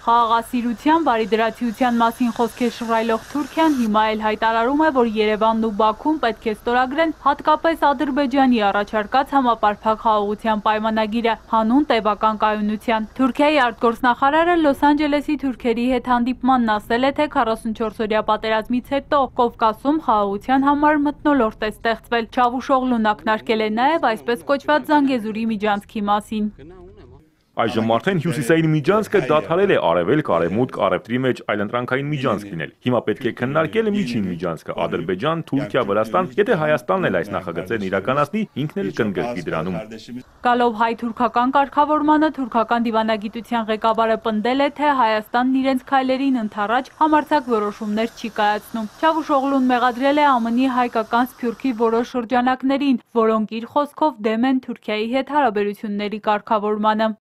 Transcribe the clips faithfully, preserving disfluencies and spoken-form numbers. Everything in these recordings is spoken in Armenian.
Խաղաղասիրության, բարիդրացիության մասին խոսքեր շռայլող Թուրքիան հիմա էլ հայտարարում է, որ Երևանն ու Բաքուն պետք է ստորագրեն հատկապես Ադրբեջանի առաջարկած համապարփակ խաղաղության պայմանագիրը հանուն տևական կայունության։ Թուրքիայի արտգործնախարարը Լոս Անջելեսի թուրքերի հետ հանդիպմանն ասել է, թե քառասունչորսօրյա պատերազմից հետո Կովկասում խաղաղության համար մթնոլորտ է ստեղծվել։ Չավուշօղլուն ակնարկել է նաև այսպես կոչված Զանգեզուրի միջանցքի մասին։ Այժմ արդեն հյուսիսային միջանցքը դադարել է արևելք, արևմուտք, առևտրի մեջ այլընտրանքային միջանցք լինել։ Հիմա պետք է քննարկել միջին միջանցքը Ադրբեջան, Թուրքիա, Վրաստան, եթե Հայաստանն էլ այս նախագծերն իրականացնի, ինքն էլ կընդգրկվի դրանում։ Գալով հայ-թուրքական կարգավորմանը թուրքական դիվանագիտության ղեկավարը պնդել է, թե Հայաստանն իրենց քայլերին ընդառաջ համարձակ որոշումներ չի կայացնում։ Չավուշօղլուն մեղադրել է ԱՄՆ -ի հայկական սփյուռքի որոշ շրջանակներին, որոնք իր խոսքով դեմ են Թուրքիայի հետ հարաբերությունների կարգավորմանը։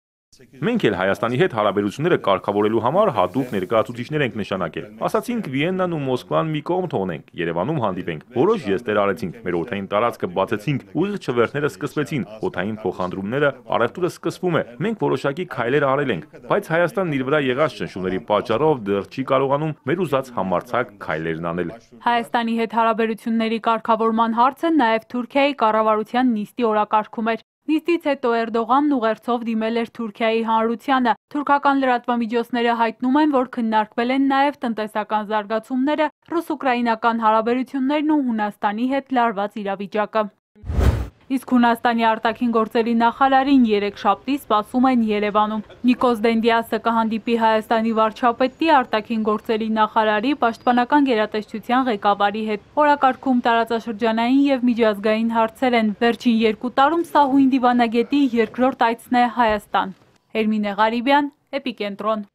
Մենք էլ Հայաստանի հետ հարաբերությունները կարգավորելու համար հատուկ ներկայացուցիչներ ենք նշանակել։ Ասացինք Վիեննան ու Մոսկվան մի կողմ թողնենք, Երևանում հանդիպենք։ Որոշ ժեստեր արեցինք, մեր օդային տարածքը բացեցինք, ուղիղ չվերթները սկսվեցին, օդային փոխադրումները, առևտուրը սկսվում է։ Մենք որոշակի քայլեր արել ենք, բայց Հայաստանն իր վրա եղած ճնշումների պատճառով դեռ չի կարողանում մեր ուզած համարձակ քայլերն անել։ Հայաստանի հետ հարաբերությունների կարգավորման հարցը նաև Թուրքիայի կառավարության նիստի օրակարգում էր։ Նիստից հետո Էրդողանն ուղերձով դիմել էր Թուրքիայի հանրությանը։ Թուրքական լրատվամիջոցները հայտնում են, որ քննարկվել են նաև տնտեսական զարգացումները, ռուս-ուկրաինական հարաբերություններն ու Հունաստանի հետ լարված իրավիճակը։ Իսկ Հունաստանի արտաքին գործերի նախարարին երեքշաբթի սպասում են Երևանում։ Նիկոս Դենդիասը կհանդիպի Հայաստանի վարչապետի, արտաքին գործերի նախարարի, պաշտպանական գերատեսչության ղեկավարի հետ։ Օրակարգում տարածաշրջանային և միջազգային հարցեր են։ Վերջին երկու տարում սա հույն դիվանագետի երկրորդ այցն է Հայաստան։ Էրմինե Ղարիբյան, Էպիկենտրոն։